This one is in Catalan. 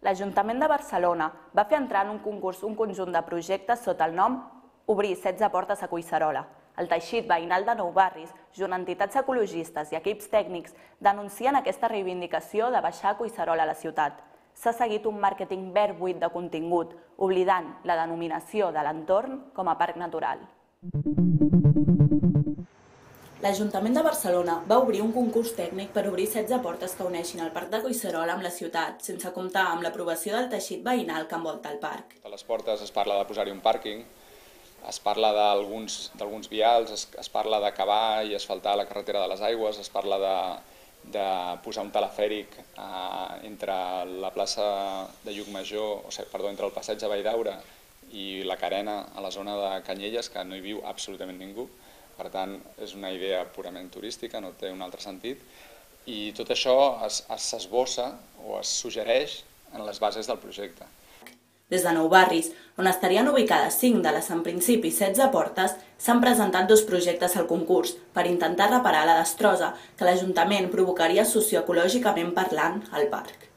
L'Ajuntament de Barcelona va fer entrar en un concurs un conjunt de projectes sota el nom Obrir 16 portes a Collserola. El teixit veïnal de Nou Barris, junt a entitats ecologistes i equips tècnics, denuncien aquesta reivindicació de baixar Collserola a la ciutat. S'ha seguit un màrqueting verd buit de contingut, oblidant la denominació de l'entorn com a parc natural. L'Ajuntament de Barcelona va obrir un concurs tècnic per obrir 16 portes que uneixin el parc de Collserola amb la ciutat, sense comptar amb l'aprovació del teixit veïnal que envolta el parc. A les portes es parla de posar-hi un pàrquing, es parla d'alguns vials, es parla d'acabar i asfaltar la carretera de les aigües, es parla de posar un telefèric entre la plaça de Llucmajor, entre el passeig de Valldaura i la Carena a la zona de Canyelles, que no hi viu absolutament ningú. Per tant, és una idea purament turística, no té un altre sentit, i tot això s'esbossa o es suggereix en les bases del projecte. Des de Nou Barris, on estarien ubicades 5 de les en principi 16 portes, s'han presentat 2 projectes al concurs per intentar reparar la destrossa que l'Ajuntament provocaria socioecològicament parlant al parc.